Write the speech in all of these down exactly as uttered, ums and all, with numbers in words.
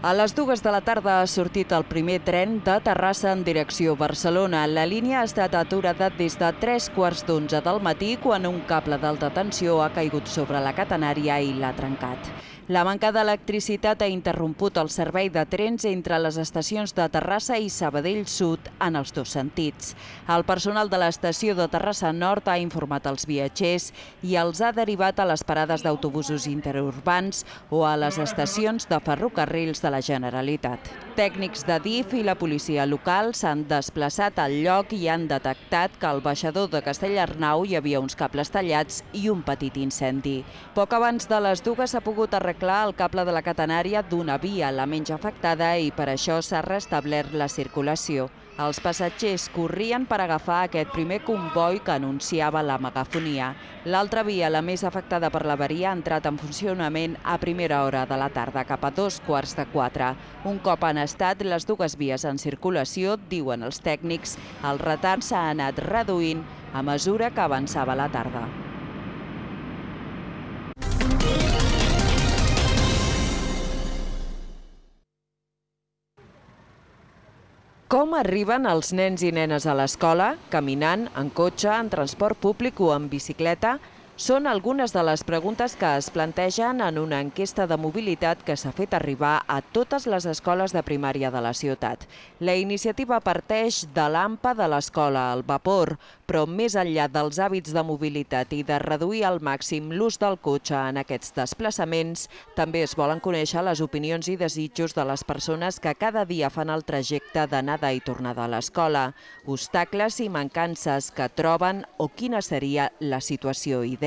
A les dues de la tarda ha sortit el primer tren de Terrassa en direcció Barcelona. La línia ha estat aturada des de tres quarts d'onze del matí quan un cable d'alta tensió ha caigut sobre la catenària i l'ha trencat. La manca d'electricitat ha interromput el servei de trens entre les estacions de Terrassa i Sabadell Sud en els dos sentits. El personal de l'estació de Terrassa Nord ha informat els viatgers i els ha derivat a les parades d'autobusos interurbans o a les estacions de ferrocarrils de la Generalitat. Tècnics de D I F i la policia local s'han desplaçat al lloc i han detectat que al baixador de Castellarnau hi havia uns cables tallats i un petit incendi. Poc abans de les dues s'ha pogut arreglar el cable de la catenària d'una via, la menys afectada, i per això s'ha restablert la circulació. Els passatgers corrien per agafar aquest primer comboi que anunciava la megafonia. L'altra via, la més afectada per l'averia, ha entrat en funcionament a primera hora de la tarda, cap a dos quarts de quatre. Un cop han estat les dues vies en circulació, diuen els tècnics, el retard s'ha anat reduint a mesura que avançava la tarda. Com arriben els nens i nenes a l'escola? Caminant, en cotxe, en transport públic o en bicicleta? Són algunes de les preguntes que es plantegen en una enquesta de mobilitat que s'ha fet arribar a totes les escoles de primària de la ciutat. La iniciativa parteix de l'A M P A de l'escola, el vapor, però més enllà dels hàbits de mobilitat i de reduir al màxim l'ús del cotxe en aquests desplaçaments, també es volen conèixer les opinions i desitjos de les persones que cada dia fan el trajecte d'anada i tornada a l'escola, obstacles i mancances que troben o quina seria la situació ideal.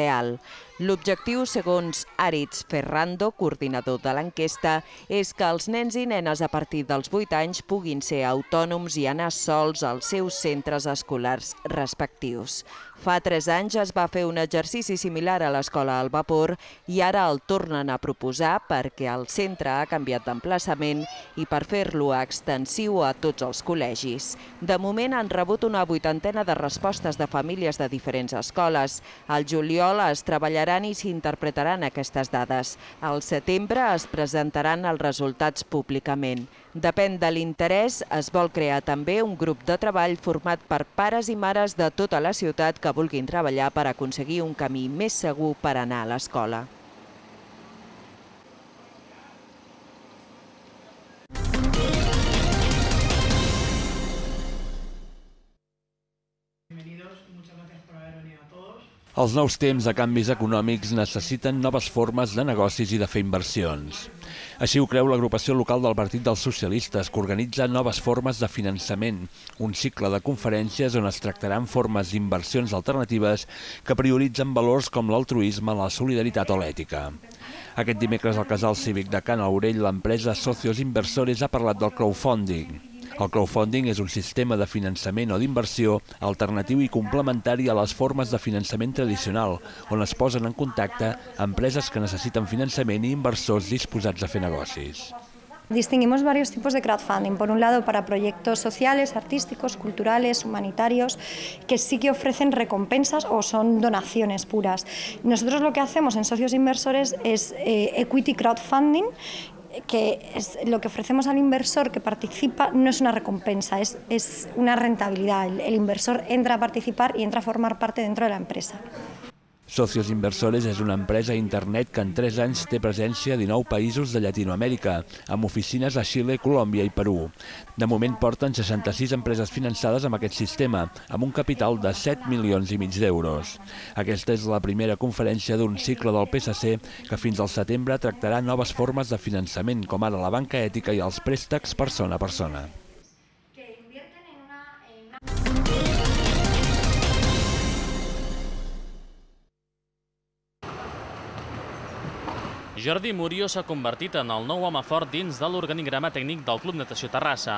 L'objectiu, segons Aritz Ferrando, coordinador de l'enquesta, és que els nens i nenes a partir dels vuit anys puguin ser autònoms i anar sols als seus centres escolars respectius. Fa tres anys es va fer un exercici similar a l'escola al vapor i ara el tornen a proposar perquè el centre ha canviat d'emplaçament i per fer-lo extensiu a tots els col·legis. De moment han rebut una vuitantena de respostes de famílies de diferents escoles. Al juliol es treballaran i s'interpretaran aquestes dades. Al setembre es presentaran els resultats públicament. Depèn de l'interès, es vol crear també un grup de treball format per pares i mares de tota la ciutat que vulguin treballar per aconseguir un camí més segur per anar a l'escola. Els nous temps de canvis econòmics necessiten noves formes de negocis i de fer inversions. Així ho creu l'agrupació local del Partit dels Socialistes, que organitza noves formes de finançament, un cicle de conferències on es tractaran formes d'inversions alternatives que prioritzen valors com l'altruisme, la solidaritat o l'ètica. Aquest dimecres al Casal Cívic de Can Aurell, l'empresa Socios Inversores ha parlat del crowdfunding. El crowdfunding és un sistema de finançament o d'inversió alternatiu i complementari a les formes de finançament tradicional, on es posen en contacte empreses que necessiten finançament i inversors disposats a fer negocis. Distinguimos varios tipos de crowdfunding. Por un lado, para proyectos sociales, artísticos, culturales, humanitarios, que sí que ofrecen recompensas o son donaciones puras. Nosotros lo que hacemos en Socios Inversores es eh, equity crowdfunding, que es lo que ofrecemos al inversor que participa, no es una recompensa, es, es una rentabilidad. El, el inversor entra a participar y entra a formar parte dentro de la empresa. Socios Inversores és una empresa a internet que en tres anys té presència a dinou països de Llatinoamèrica, amb oficines a Xile, Colòmbia i Perú. De moment porten seixanta-sis empreses finançades amb aquest sistema, amb un capital de set milions i mig d'euros. Aquesta és la primera conferència d'un cicle del P S C que fins al setembre tractarà noves formes de finançament, com ara la banca ètica i els préstecs persona a persona. Jordi Murillo s'ha convertit en el nou home fort dins de l'organigrama tècnic del Club Natació Terrassa.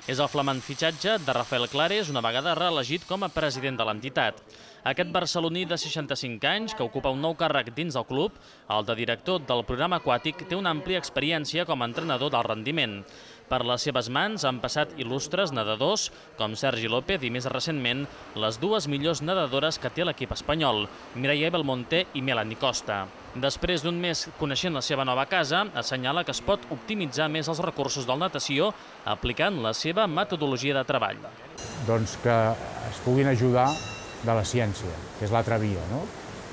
És el flamant fitxatge de Rafael Clares, una vegada reelegit com a president de l'entitat. Aquest barceloní de seixanta-cinc anys, que ocupa un nou càrrec dins del club, el de director del programa aquàtic, té una àmplia experiència com a entrenador del rendiment. Per les seves mans han passat il·lustres nedadors com Sergi López i, més recentment, les dues millors nedadores que té l'equip espanyol, Mireia Belmonte i Melanie Costa. Després d'un mes coneixent la seva nova casa, assenyala que es pot optimitzar més els recursos de la natació aplicant la seva metodologia de treball. Doncs que es puguin ajudar de la ciència, que és l'altra via, no?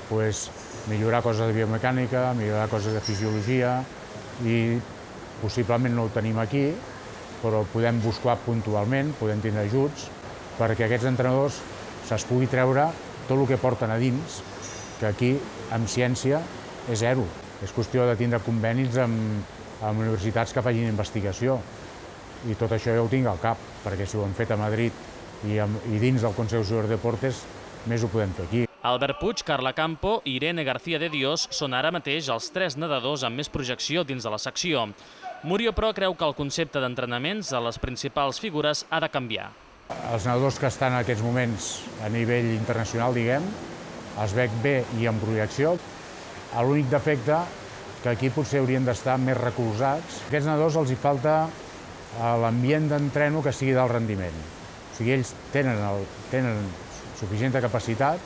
Pues millorar coses de biomecànica, millorar coses de fisiologia i possiblement no ho tenim aquí, però podem buscar puntualment, podem tindre ajuts, perquè aquests entrenadors se'ls pugui treure tot el que porten a dins, que aquí, amb ciència, és zero. És qüestió de tindre convenis amb, amb universitats que facin investigació. I tot això ja ho tinc al cap, perquè si ho hem fet a Madrid i, amb, i dins del Consell Superior de Deportes, més ho podem fer aquí. Albert Puig, Carla Campo i Irene García de Dios són ara mateix els tres nedadors amb més projecció dins de la secció. Murillo, però, creu que el concepte d'entrenaments de les principals figures ha de canviar. Els nedadors que estan en aquests moments a nivell internacional, diguem, els veig bé i en projecció. L'únic defecte que aquí potser haurien d'estar més recolzats. A aquests nedadors els hi falta l'ambient d'entreno que sigui d'alt rendiment. O sigui, ells tenen, el, tenen suficient capacitat,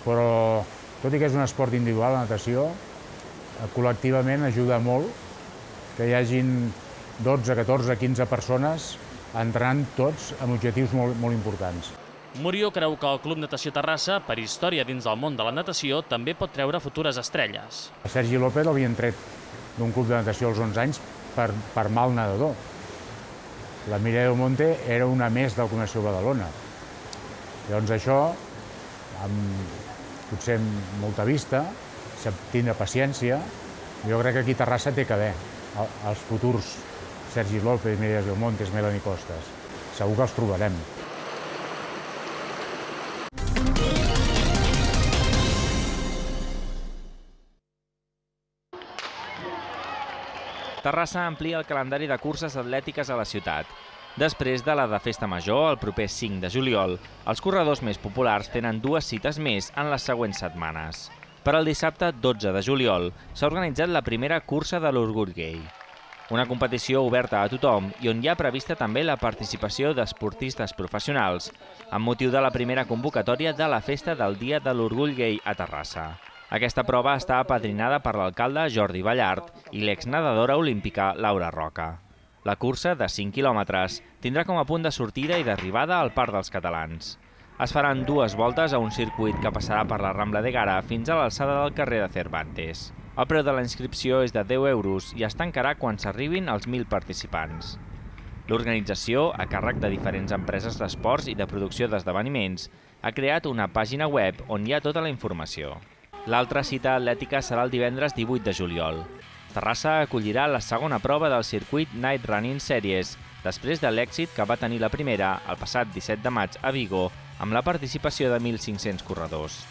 però tot i que és un esport individual, la natació, col·lectivament ajuda molt que hi hagin dotze, catorze, quinze persones entrenant tots amb objectius molt, molt importants. Murillo creu que el Club Natació Terrassa, per història dins del món de la natació, també pot treure futures estrelles. Sergi López l'havien tret d'un club de natació als onze anys per, per mal nedador. La Mireia Belmonte era una més del Club Natació Badalona. Llavors això, amb potser amb molta vista, tindre paciència, jo crec que aquí a Terrassa té que haver els futurs Sergi López, Mireia Belmonte, Melanie Costas. Segur que els trobarem. Terrassa amplia el calendari de curses atlètiques a la ciutat. Després de la de Festa Major, el proper cinc de juliol, els corredors més populars tenen dues cites més en les següents setmanes. Per al dissabte dotze de juliol s'ha organitzat la primera cursa de l'Orgull Gai. Una competició oberta a tothom i on hi ha prevista també la participació d'esportistes professionals, amb motiu de la primera convocatòria de la Festa del Dia de l'Orgull Gai a Terrassa. Aquesta prova està apadrinada per l'alcalde Jordi Ballart i l'exnedadora olímpica Laura Roca. La cursa, de cinc quilòmetres, tindrà com a punt de sortida i d'arribada al Parc dels Catalans. Es faran dues voltes a un circuit que passarà per la Rambla de Gara fins a l'alçada del carrer de Cervantes. El preu de la inscripció és de deu euros i es tancarà quan s'arribin els mil participants. L'organització, a càrrec de diferents empreses d'esports i de producció d'esdeveniments, ha creat una pàgina web on hi ha tota la informació. L'altra cita atlètica serà el divendres divuit de juliol. Terrassa acollirà la segona prova del circuit Night Running Series, després de l'èxit que va tenir la primera el passat disset de maig a Vigo, amb la participació de mil cinc-cents corredors.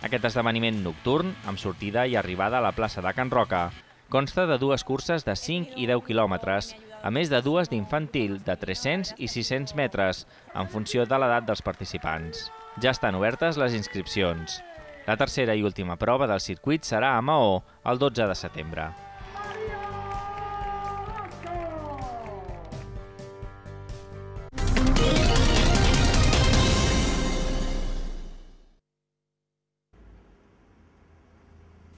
Aquest esdeveniment nocturn, amb sortida i arribada a la plaça de Can Roca, consta de dues curses de cinc i deu quilòmetres, a més de dues d'infantil de tres-cents i sis-cents metres, en funció de l'edat dels participants. Ja estan obertes les inscripcions. La tercera i última prova del circuit serà a Maó el dotze de setembre.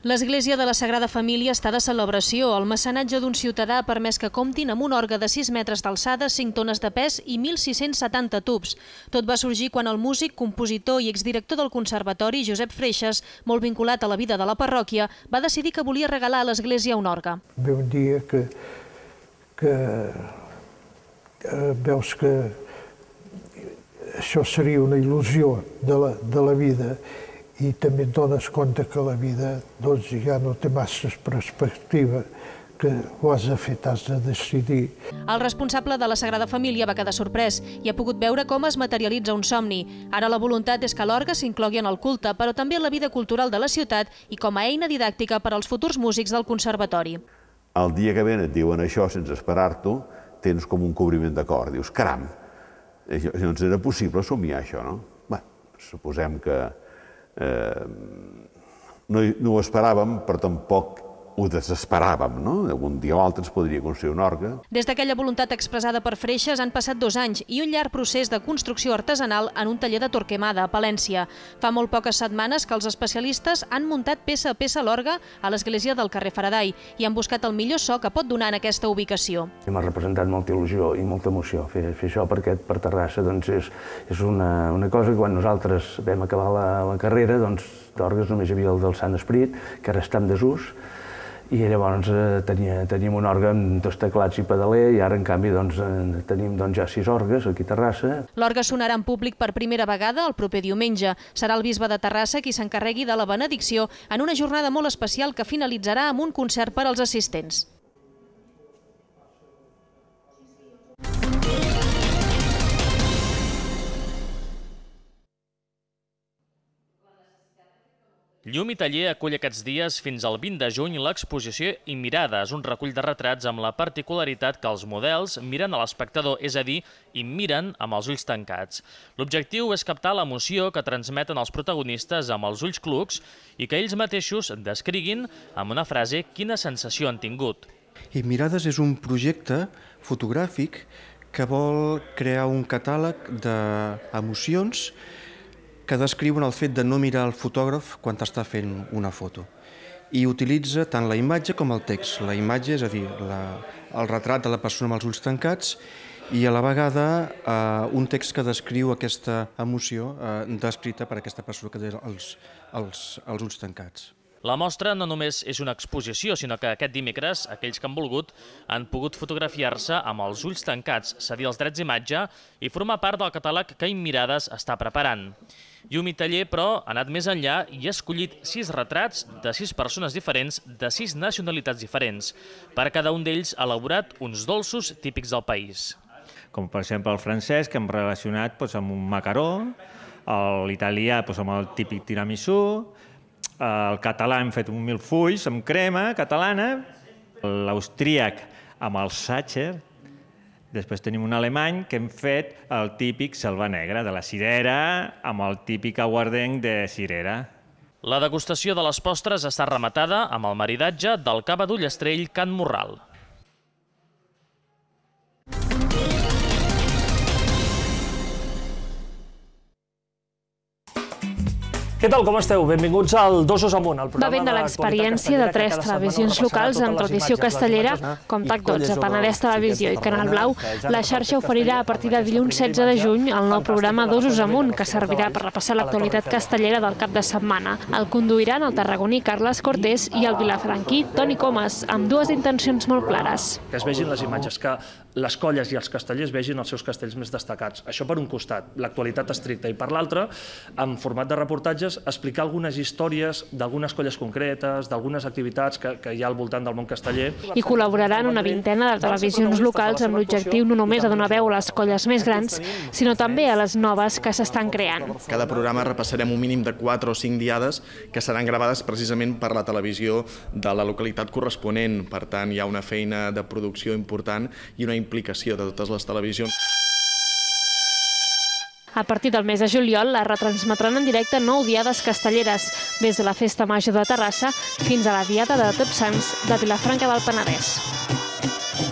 L'Església de la Sagrada Família està de celebració. El mecenatge d'un ciutadà ha permès que comptin amb un orgue de sis metres d'alçada, cinc tones de pes i mil sis-cents setanta tubs. Tot va sorgir quan el músic, compositor i exdirector del Conservatori, Josep Freixas, molt vinculat a la vida de la parròquia, va decidir que volia regalar a l'Església un orgue. Ve un dia que, que veus que això seria una il·lusió de la, de la vida, i també et dones compte que la vida doncs, ja no té massa perspectiva, que ho has de fer, t'has de decidir. El responsable de la Sagrada Família va quedar sorprès i ha pogut veure com es materialitza un somni. Ara la voluntat és que l'orgue s'inclogui en el culte, però també en la vida cultural de la ciutat i com a eina didàctica per als futurs músics del Conservatori. El dia que ven et diuen això sense esperar-t'ho, tens com un cobriment de cor. Dius, caram, no ens era possible somiar això, no? Bé, suposem que no ho esperàvem, però tampoc ho desesperàvem, no? Un dia o altre ens podria construir un orgue. Des d'aquella voluntat expressada per Freixes han passat dos anys i un llarg procés de construcció artesanal en un taller de Torquemada, a Palència. Fa molt poques setmanes que els especialistes han muntat peça a peça l'orgue a l'església del carrer Faraday i han buscat el millor so que pot donar en aquesta ubicació. M'ha representat molta il·lusió i molta emoció fer això, perquè per Terrassa és una cosa que quan nosaltres vam acabar la carrera, d'orgues només hi havia el del Sant Esperit, que ara està en desús, i llavors teníem un orgue amb dos teclats i pedaler i ara, en canvi, tenim ja sis orgues aquí a Terrassa. L'orgue sonarà en públic per primera vegada el proper diumenge. Serà el bisbe de Terrassa qui s'encarregui de la benedicció en una jornada molt especial que finalitzarà amb un concert per als assistents. Llum i Taller acull aquests dies fins al vint de juny l'exposició Immirades, un recull de retrats amb la particularitat que els models miren a l'espectador, és a dir, i miren amb els ulls tancats. L'objectiu és captar l'emoció que transmeten els protagonistes amb els ulls clucs i que ells mateixos descriguin amb una frase quina sensació han tingut. Immirades és un projecte fotogràfic que vol crear un catàleg d'emocions que descriuen el fet de no mirar el fotògraf quan està fent una foto. I utilitza tant la imatge com el text. La imatge, és a dir, el retrat de la persona amb els ulls tancats, i a la vegada un text que descriu aquesta emoció descrita per aquesta persona que té els ulls tancats. La mostra no només és una exposició, sinó que aquest dimecres aquells que han volgut han pogut fotografiar-se amb els ulls tancats, cedir els drets d'imatge i formar part del catàleg que Immirades està preparant. Llum i Taller, però, ha anat més enllà i ha escollit sis retrats de sis persones diferents, de sis nacionalitats diferents. Per a cada un d'ells ha elaborat uns dolços típics del país. Com per exemple el francès, que hem relacionat amb un macaró, l'italià amb el típic tiramisú, el català hem fet un milfulls amb crema catalana, l'austríac amb el Sacher, després tenim un alemany que hem fet el típic selva negra de la cirera amb el típic aguardent de cirera. La degustació de les postres està rematada amb el maridatge del cava d'Ullastrell Can Morral. Què tal, com esteu? Benvinguts al Dosos Amunt, el programa de l'experiència de tres televisions locals amb tradició castellera, com TAC dotze, Penedès Televisió i Canal Blau. La xarxa oferirà a partir de dilluns setze de juny el nou programa Dosos Amunt, que servirà per repassar l'actualitat castellera del cap de setmana. El conduiran el tarragoní Carles Cortés i el vilafranquí Toni Comas, amb dues intencions molt clares. Que es vegin les imatges, que les colles i els castellers vegin els seus castells més destacats. Això per un costat, l'actualitat estricta, i per l'altre, en format de reportatges, explicar algunes històries d'algunes colles concretes, d'algunes activitats que hi ha al voltant del món casteller. I col·laboraran una vintena de televisions locals amb l'objectiu no només de donar veu a les colles més grans, sinó també a les noves que s'estan creant. Cada programa repassarem un mínim de quatre o cinc diades que seran gravades precisament per la televisió de la localitat corresponent. Per tant, hi ha una feina de producció important i una implicació de totes les televisions. A partir del mes de juliol la retransmetran en directe nou diades castelleres, des de la Festa Major de Terrassa fins a la Diada de Tots Sants de Vilafranca del Penedès.